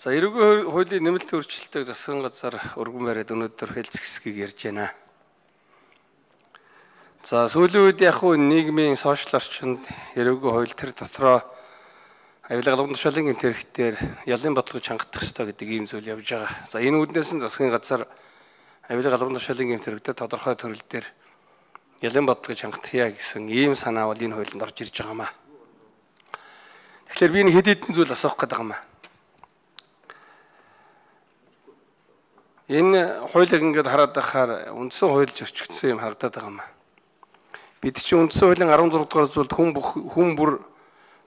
За эрүүгийн хуулийн нэмэлт өөрчлөлтийг засгийн газар өргөн бариад өнөөдөр хэлцэх хэсгийг ярьж байна. За сүүлийн үед яг хуу нийгмийн сошиал орчинд эрүүгийн хууль тэр дотроо авилга албан тушаалын гэмт хэрэгтээр ялын бодлогыг чангах ёстой гэдэг ийм зүйл явж байгаа. За энэ үүднээс нь засгийн газар авилга албан тушаалын гэмт хэрэгтээр тодорхой төрөл дээр ялын бодлогыг чангахъя гэсэн ийм санаа бол энэ хуулинд орж ирж байгаамаа. Тэгэхээр би нэг хэд хэдэн зүйл асуух гээд байгаамаа. Энэ хуулийг ингээд хараад байхаар үндсэн хууль зөрчигдсөн юм харагдаад байгаамаа. Бид чинь үндсэн хуулийн 16 дугаар зүйлд хүн бүр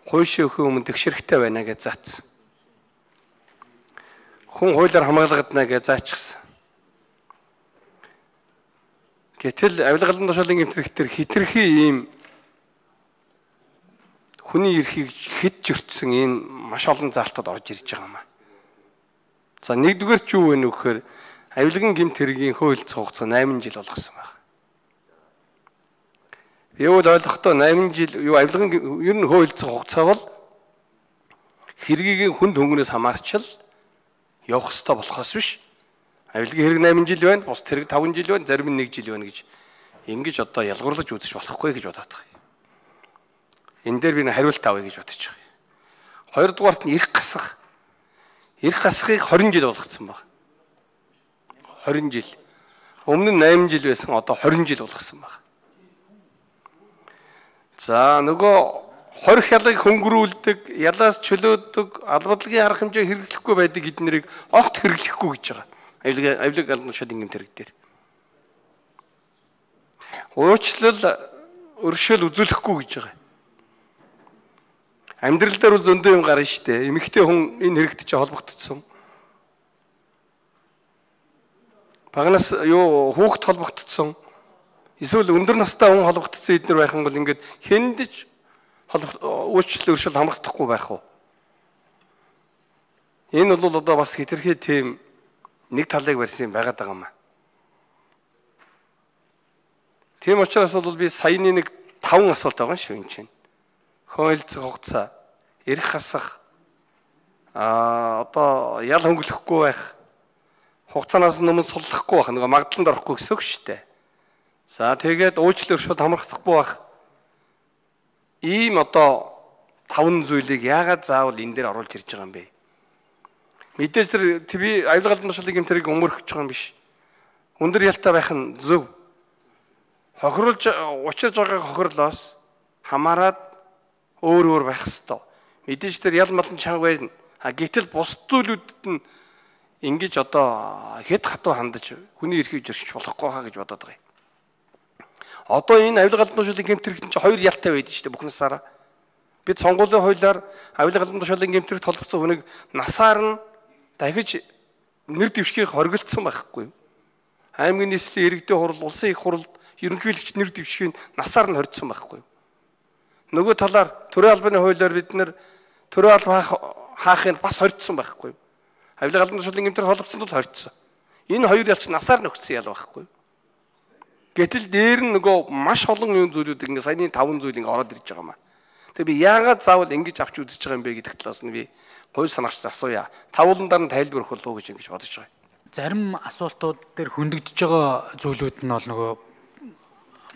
хууль өгөх өмнө тэгшэрхтэй байна гэж заасан. Хүн хуулиар хамгаалагдана гэж заачсан. Гэтэл авилга албан тушаалын гэмт хэрэгтэр хитрхи ийм хүний эрхийг хэд зөрчсөн ийм маш олон заалтууд орж ирж байгаамаа. За нэгдүгээр ч юу вэ нөхөр авилгын гэмт хэргийн хууль хугацаа 8 жил болгосон байна. Юу л ойлгохдоо 8 жил юу авилгын ер нь хууль хугацаа бол хэргийг хүнд хөнгөнөөс хамаарч л явах ёстой болохоос биш. Авилгын хэрэг 8 жил байна, бус хэрэг 5 жил байна, зарим нь 1 жил байна гэж ингэж одоо ялгуурлаж үзэж болохгүй гэж бодоод байгаа. Энэ дээр би нэг хариулт авъя гэж бодож байгаа. Хоёрдугаарт нь эрх гасах. Эрх гасахыг 20 жил болгоцсон байна. 20 жил. Өмнө нь 8 жил байсан, одоо 20 жил болгосон байна. За нөгөө хорих ялыг хөнгөрүүлдэг, ялаас чөлөөдөг, албадлагын арга хэмжээ хэрэглэхгүй байдаг эднэрийг огт хэрэглэхгүй гэж байгаа. Авилга албан тушаалын гэмт хэрэг дээр. Уучлал, өршөөл үзүүлэхгүй гэж байгаа. Амьдрал дээр бол зөндөө юм гарна штэ. Эмэгтэй хүн энэ хэрэгт чи холбогдсон. Багнаас юу хүүхэд холбогдсон. Эсвэл өндөр настай хүн холбогдсон эднэр байх юм бол ингээд хэндэж уучлал өршөөл хамгахдахгүй байх уу? Энэ бол одоо бас хитрхи тийм нэг талыг барьсан байгаад байгаа юм аа. Тийм учраас бол би саяны нэг 5 асуулт байгаа шүү энэ чинь. Хууль хугацаа, эрх хасах, одоо ял хөнгөлөхгүй байх, хугацаанаас өмнө суллахгүй байх, нөгөө магадлалд орохгүй гэсэн үг шүү дээ. За тэгээд уучлал өршөөл хамгахдахгүй байх. Ийм одоо 5 зүйлийг яагаад заавал энэ дээр оруулж ирж байгаа юм бэ? Мэдээж тэр би авилга албан тушаалын гэмт хэргийг өмөрөх гэж байгаа юм биш. Өндөр ялтай байх нь зөв. Хохируулж учирж байгаа хохирлоос хамаарад өөр байх ёстой. Мэдээж тэр ял малын чанга байна. Гэтэл бус зүйлүүдэд нь ингэж одоо хэд хатуу хандаж хүний эрхийг зөрчиж болохгүй хаа гэж бодоод байгаа юм. Одоо энэ авилга албан тушаалын гэмт хэрэгт чинь 2 ялтай байдаг шүү дээ бүх насаараа. Бид сонгуулийн хуулиар авилга албан тушаалын гэмт хэрэгт холбогдсон хүнийг насаар нь дахиж нэр дэвшгийг хоригдсан байхгүй юу? Аймгийн нийслэлийн иргэдийн хурал, улсын их хурал, ерөнхийлөгч нэр дэвшгийг насаар нь хоригдсан байхгүй юу? Нөгөө талаар төрийн албаны хуулиар бид нэр төрийн албан хаахыг бас хоригдсан байхгүй юу? Авилга албан тушаалын гэмт хэрэг холбогдсонд бол хоригдсон. Энэ хоёр ялч насаар нь өгсөн ял байхгүй юу? Гэтэл дээр нь нөгөө маш олон юм зүйлүүд ингээ саяны 5 зүйл ингээ ороод ирж байгаа юм аа. Тэгээ би яагаад заавал ингэж авч үзэж байгаа юм бэ гэдэг талаас нь би гой санагч асууя. Тавууландар нь тайлбар өгөх болов уу гэж ингэж бодож байгаа. Зарим асуултууд дээр хөндөгдөж байгаа зүйлүүд нь бол нөгөө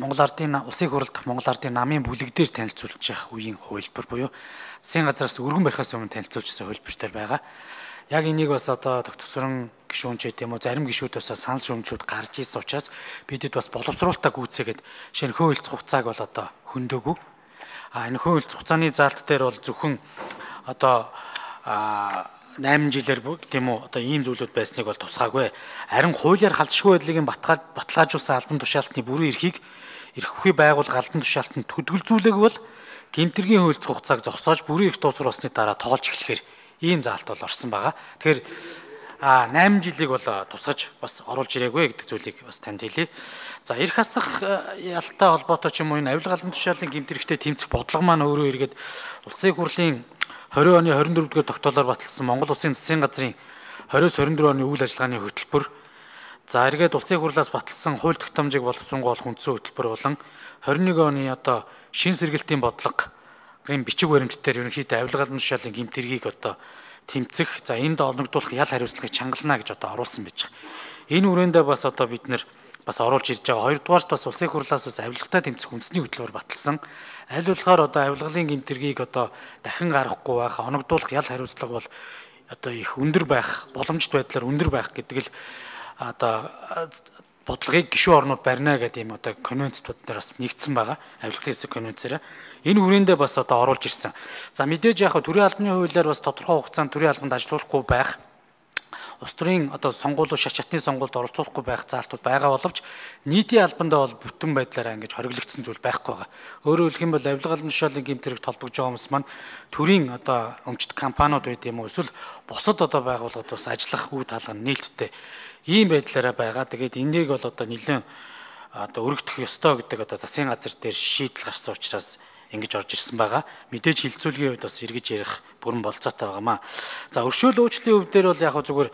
Монгол Ардын улсын хурал дахь Монгол Ардын намын бүлэг дээр танилцуулж явах үеийн хувилбар буюу засгийн газраас өргөн барихаас өмнө танилцуулжсэн хувилбартай байгаа. Яг энийг бас одоо тогтворсон гишүүн ч гэдэм үү зарим гишүүдээс санал шүүмжлүүд гарч ирсэн учраас бидэд бас боловсруулалтаа гүйцээгээд шинэ хууль хугацааг бол одоо хөндөөгүй. Энэ хууль хугацааны заалт дээр бол зөвхөн одоо 8 жилээр тийм үү одоо ийм зүйлүүд байсныг бол тусгаагүй. Харин хуулиар халдшгүй байдлыг баталгаажуулсан албан тушаалтны бүрэн эрхийг эрх ухий байгууллага албан тушаалтанд төдөлзүүлэх бол гэмтэргийн хууль хугацааг зогсоож бүрэн эрх дуусгар болсны дараа тоолж эхлэхээр ийм заалт бол орсон байгаа. Тэгэхээр 8 жилиг бол тусгаж бас оруулж ирээгүй гэдэг зүйлийг бас танд хэлье. За эрх хасах ялтай холбоотой ч юм уу энэ авилга албан тушаалын гэмт хэрэгтээ тэмцэх бодлого маань өөрөө эргээд улсын хурлын 20 оны 24-р тогтоолоор баталсан Монгол Улсын засгийн газрын 20-24 оны үйл ажиллагааны хөтөлбөр за эргээд улсын хурлаас баталсан хууль тогтоомжийг боловсруулах үндсэн хөтөлбөр болон 21 оны одоо шин сэргэлтийн бодлого гэн бичиг баримт дээр ерөнхийдөө авилга албан тушаалын гэмт хэргийг одоо тэмцэх, за энд оногдуулах ял хариуцлагыг чангална гэж одоо оруулсан байж байгаа. Энэ хүрээндээ бас одоо бид нэр бас оруулж ирж байгаа. Хоёрдугаарт бас улсын хурлаас бас авилгатай тэмцэх үндэсний хөтөлбөр баталсан. Аль болохоор одоо авилгалын гэмтэргийг одоо дахин гаргахгүй байх, оногдуулах ял хариуцлага бол одоо их өндөр байх, боломжит байдлаар өндөр байх гэдэг л одоо бодлогыг гишүүн орнууд барина гэдэг юм одоо конвенцтууд дээр бас нэгдсэн байгаа. Авилгын хэсэг конвенцээр. Энэ хүрээндээ бас одоо оруулж ирсэн. За мэдээж яг төрийн албаны хуулиар бас тодорхой хугацаанд төрийн албанд ажиллахгүй байх, улс төрийн одоо сонгуулиуд шат чатны сонгуульд оролцуулахгүй байх заалтууд байгаа боловч нийтийн албандаа бол бүтэн байдлаараа ингэж хориглогдсон зүйл байхгүй байгаа. Өөрөөр хэлэх юм бол авилга албан тушаалын гэмтэрэгт холбогдож байгаа хүмүүс маань төрийн одоо өмчт компаниуд байт юм уу эсвэл бусад одоо байгууллагууд бас ажиллах үе талга нээлттэй ийм байдлаараа байгаа. Тэгээд энийг бол одоо нэлээд одоо өргөдөх ёстой гэдэг одоо засгийн газар дээр шийдэл гарсан учраас ингэж орж ирсэн байгаа. Мэдээж хилцүүлгийн хувьд бас эргэж ярих бүрэн болцоотой байгаамаа. За өршөөл уучлалын хувь дээр бол яг зүгээр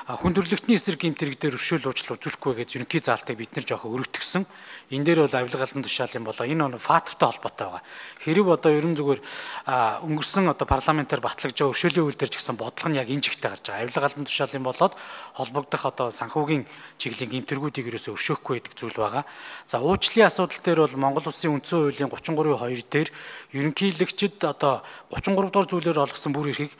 хүндрэлтний эсрэг гэмтэрэг дээр өршөөл уучлал үзүүлэхгүй гэж ерөнхий заалтыг бид нар жоохон өргөтгсөн. Энэ дээр бол авилга албан тушаалын болоо энэ факттай холбоотой байгаа. Хэрэг одоо ерөн зүгээр өнгөрсөн одоо парламентаар батлагдж байгаа өршөөлийн үйл дээр ч гэсэн бодлого нь яг энэ жигтэй гарч байгаа. Авилга албан тушаалын болоод холбогдох одоо санхүүгийн чиглэлийн гэмтэргүүдийг ерөөсөө өршөөхгүй гэдэг зүйл байгаа. За уучлалын асуудал дээр бол Монгол Улсын үндсэн хуулийн 33(2) дээр ерөнхийлөгчд одоо 33 дугаар зүйлээр олгосон бүр эрхийг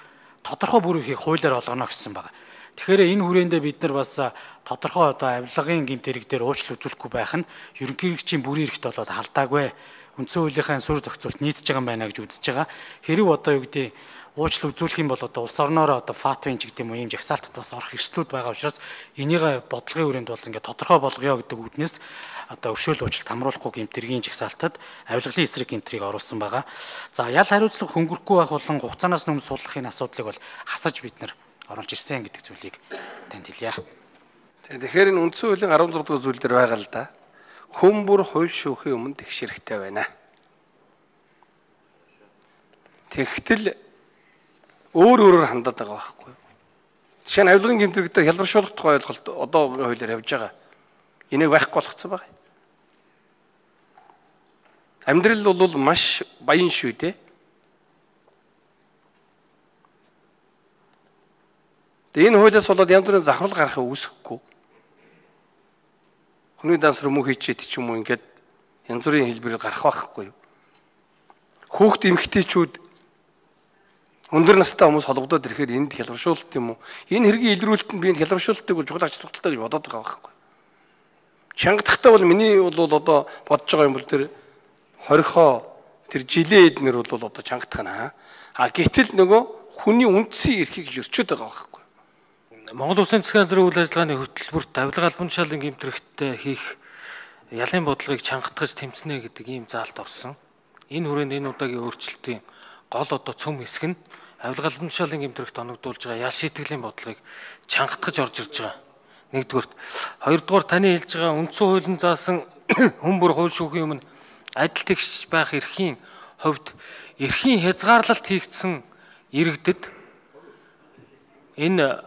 тодорхой бүр эрхийг хуулиар олгоно гэсэн байна. Тэгэхээр энэ хүрээндээ бид нар бас тодорхой одоо авилгын гэмтэрэг дээр уучлал үзүүлэхгүй байх нь ерөнхийлөгчийн бүрийн эрхт болоод халдаагүй. Үндсэн хуулийнхаа суурь зохицуулт нийцэж байгаа юм байна гэж үзэж байгаа. Хэрэг одоо юу гэдэг уучлал үзүүлэх юм бол одоо улс орноор одоо фатвын ч гэдэг юм уу ийм жагсаалтад бас орох эрсдлүүд байгаа учраас энийг бодлогын хүрээнд бол ингээд тодорхой болгоё гэдэг үднэс одоо өршөөл уучлалт хамруулахгүй гэмтэргийн жагсаалтад авилгалын эсрэг гэмтрийг оруулсан байгаа. За ял хариуцлага хөнгөрөхгүй байх болон хугацаанаас өмнө суулгахын асуудлыг бол хасаж бид нар оруулж ирсэн гэдэг зүйлийг танд хэлье. Тэгэхээр энэ үндсэн хуулийн 16 дугаар зүйл дээр байгаа л да. Хүн бүр хууль шүүхийн өмнө тэгш хэрэгтэй байна. Тэгтэл өөрөөр хандаад байгаа байхгүй. Жишээ нь авилгын гэмтэрэгтэй хялбаршуулах тухай ойлголт одоогийн хуулиар явж байгаа. Энийг байхгүй болгоцсон байгаа. Амьдрал бол маш баян шүү дээ. Тэгээ энэ хуулиас болоод янз бүрийн завхрал гарахыг үүсэхгүй. Хүний дансар мөн хийчихэд ч юм уу ингээд янз бүрийн хэлбэрээр гарах байхгүй юу. Хүүхд эмэгтэйчүүд өндөр настай хүмүүс холбогдоод ирэхээр энд хялбаршуулалт юм уу? Энэ хэргийн илрүүлэлтэнд би энэ хялбаршуулалтыг чухал ач холбогдолтой гэж бодоод байгаа байхгүй. Чангадахтай бол миний бол одоо бодож байгаа юм бол тэр хорихоо тэр жилээ эднэр бол одоо чангадах нь гэтэл нөгөө хүний үндсэн эрхийг зөрчөөд байгаа байхгүй. Монгол Улсын засгийн газрын үйл ажиллагааны хөтөлбөрт авилга албан тушаалын гэмтрэгтээ хийх ялын бодлогыг чангатгаж тэмцэнэ гэдэг ийм заалт орсон. Энэ хүрээнд энэ удаагийн өөрчлөлтийн гол одоо цөм хэсэг нь авилга албан тушаалын гэмтрэгт оногдуулж байгаа ял шийтгэлийн бодлогыг чангатгаж орж ирж байгаа. Нэгдүгээрт, хоёрдугаар таны хэлж байгаа үндсэн хуулийн заасан хүн бүр хууль шүүхийн өмнө адил тэгш байх эрхийн хувьд эрхийн хязгаарлалт хийгдсэн иргэдэд энэ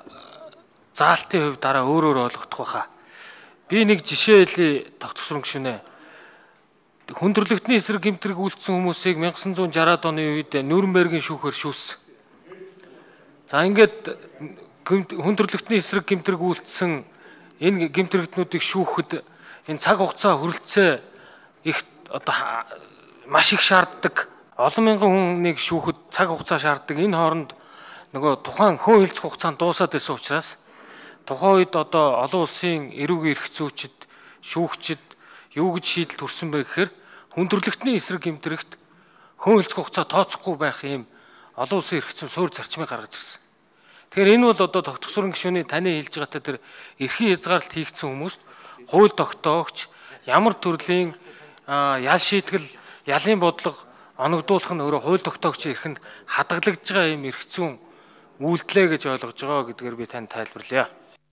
заалтын хувьд дараа өөрөөр ойлгох байхаа. Би нэг жишээ хэлье тогтсрон гүшүнэ. Хүндрэлтний эсрэг гэмтрэг үйлдсэн хүмүүсийг 1960-аад оны үед Нюрнбергийн шүүхээр шүүссэн. За ингээд хүндрэлтний эсрэг гэмтрэг үйлдсэн энэ гэмтрэгтнүүдийг шүүхэд энэ цаг хугацаа хүрэлцээ их одоо маш их шаарддаг. Олон мянган хүнийг шүүхэд цаг хугацаа шаарддаг. Энэ хооронд нөгөө тухайн хүн хэлцэх хугацаанд дуусаад байсан учраас тухайн үед одоо олон улсын эрүүгийн эрх зүйчид, шүүгчид юу гэж шийдэл төрсөн бэ гэхээр хүндрэлтний эсрэг гэмтрэгт хүн хэлцэх хугацаа тооцохгүй байх юм олон улсын эрх зүйн суурь зарчмыг гаргаж ирсэн. Тэгэхээр энэ бол одоо тогтворсон гишүүний таны хэлж байгаатай тэр эрхийн хязгаарлалт хийгдсэн хүмүүст хууль тогтоогч ямар төрлийн ял шийтгэл, ялын бодлого оногдуулах нь өөрөө хууль тогтоогчийн эрхэнд хадгалагдж байгаа юм эрх зүйн үйлдэлээ гэж ойлгож байгаа гэдгээр би танд тайлбарлая.